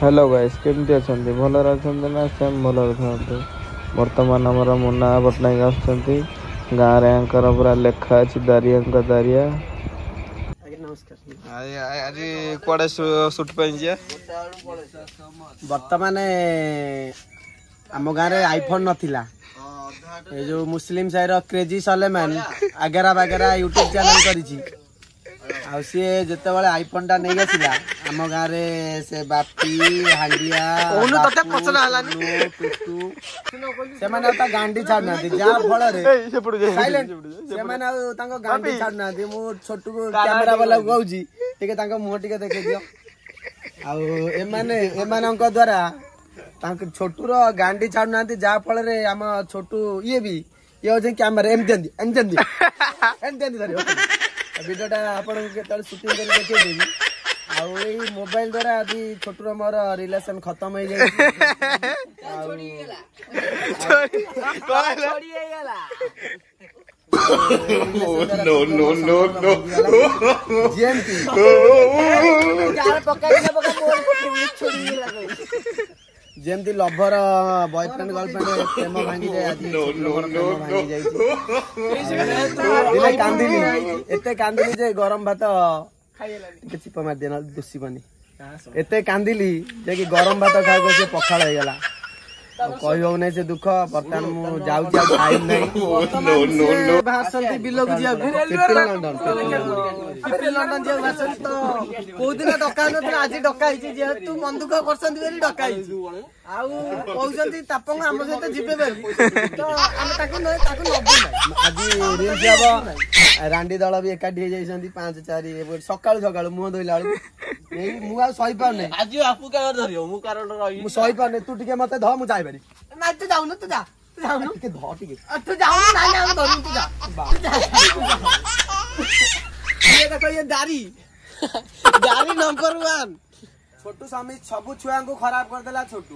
Hello guys, କେମିତି ଅଛନ୍ତି? ଭଲରେ ଅଛନ୍ତି ନା? ସେମ୍ ଭଲରେ ଥାନ୍ତୁ। ବର୍ତ୍ତମାନ ଆମର ମୁନା ପଟ୍ଟନାୟକ ଆସୁଛନ୍ତି। ଗାଁରେ ୟାଙ୍କର ପୁରା ଲେଖା ଅଛି, ଦାରିଆଙ୍କ ଦାରିଆ। ଆଜ୍ଞା ନମସ୍କାର। ଆଜି କୁଆଡ଼େ ସୁଟ୍ ପାଇଁ ଯିବା? ବର୍ତ୍ତମାନ ଆମ ଗାଁରେ ଆଇଫୋନ ନଥିଲା। ଏ ଯୋଉ ମୁସଲିମ ସାହିର କ୍ରେଜି ସଲେମାନ ଆଗେରା ବାଗେରା ୟୁଟ୍ୟୁବ ଚ୍ୟାନେଲ କରିଛି, ଆଉ ସିଏ ଯେତେବେଳେ ଆଇଫୋନ ଟା ନେଇ ଆସିଲା ଆମ ଗାଁରେ, ସେ ବାପି, ହାଣ୍ଡିଆ, ଟୁଟୁ ସେମାନେ ଆଉ ତା ଗାଣ୍ଡି ଛାଡୁନାହାନ୍ତି। ଯାହା ଫଳରେ ସେମାନେ ଆଉ ତାଙ୍କ ଗାଣ୍ଡି ଛାଡୁନାହାନ୍ତି। ମୁଁ ଛୋଟକୁ କ୍ୟାମେରା ବାଲାକୁ କହୁଛି, ଟିକେ ତାଙ୍କ ମୁହଁ ଟିକେ ଦେଖେଇ ଦିଅ। ଆଉ ଏମାନେ ଏମାନଙ୍କ ଦ୍ଵାରା ତାଙ୍କ ଛୋଟୁର ଗାଣ୍ଡି ଛାଡୁନାହାନ୍ତି, ଯାହା ଫଳରେ ଆମ ଛୋଟୁ ଇଏ ବି ଇଏ ହଉଛି କ୍ୟାମେରା ଏମିତି ଏମିତି ଏମିତି ଏମିତି ଏମିତି ଏମିତି ଧରିବ। ଭିଡ଼ିଓଟା ଆପଣଙ୍କୁ କେତେବେଳେ ସୁଟିଂ କରି ଦେଖେଇଦେବି। ଆଉ ଏଇ ମୋବାଇଲ ଦ୍ଵାରା ଆଜି ଛୋଟୁର ମୋର ରିଲେସନ ଖତମ ହେଇଯାଇଛି। ଆଉ No, no, no, no. ଯେମିତି ଯେମିତି ଲଭର ବୟଫ୍ରେଣ୍ଡ ଗର୍ଲଫ୍ରେଣ୍ଡ ପ୍ରେମ ଭାଙ୍ଗିଯାଏ, ଆଜି ପ୍ରେମ ଭାଙ୍ଗି ଯାଇଛି। ଦିନେ କାନ୍ଦିଲି, ଏତେ କାନ୍ଦିଲି ଯେ ଗରମ ଭାତ ଟିକେ ଚିପ ମାରିଦିଏ, ନହେଲେ ଦୁଷିବନି। ଏତେ କାନ୍ଦିଲି ଯେ କି ଗରମ ଭାତ ଖାଇବାକୁ ସେ ପଖାଳ ହେଇଗଲା। କହି ହଉନାହିଁ ସେ ଦୁଃଖ। ବର୍ତ୍ତମାନ ମୁଁ ଯାଉଛି, ଆଉ ଟାଇମ ନାହିଁ। ବାହାରିଛନ୍ତି ବିଲକୁ ଯିବାକୁ, ଲଣ୍ଡନ ଲଣ୍ଡନ ଯିବାକୁ ବାହାରିଛନ୍ତି। ତ କୋଉ ଦିନ ଡକା ନଥିଲା, ଆଜି ଡକା ହେଇଛି। ଯେହେତୁ ମନ ଦୁଃଖ କରୁଛନ୍ତି ବୋଲି ଡକା ହେଇଛି। ଆଉ କହୁଛନ୍ତି ତାପଙ୍ଗ ଆମ ସହିତ ଯିବେ ବୋଲି, ତ ଆମେ ତାକୁ ତାକୁ ନବୁ। ଆଜି ରିଲ୍ସ ହବ। ରାଣ୍ଡି ଦଳ ବି ଏକାଠି ହେଇଯାଇଛନ୍ତି 5 4 ସକାଳୁ ସକାଳୁ ମୁହଁ ଧୋଇଲା ବେଳକୁ। ଏଇ ମୁଁ ଆଉ ସହିପାରୁନି ଆଜି। ବାପୁ କାରଣ ଧରିବ, ମୁଁ କାରଣ ରହିବି। ମୁଁ ସହିପାରୁନି। ତୁ ଟିକେ ମତେ ଧ, ମୁଁ ଯାଇପାରି ନା। ତୁ ଯାଉନୁ, ତୁ ଯା, ତୁ ଯାଉନୁ, ଟିକେ ଧ ଟିକେ। ତୁ ଯାଉନୁ। ନାଇଁ ନାଇଁ, ଆମେ ଧରିବୁ, ତୁ ଯା। ଇଏ ଦେଖ, ଇଏ ଦାରି ଦାରି ନମ୍ବର 1 ଛୋଟୁ ସ୍ୱାମୀ। ସବୁ ଛୁଆଙ୍କୁ ଖରାପ କରିଦେଲା ଛୋଟୁ।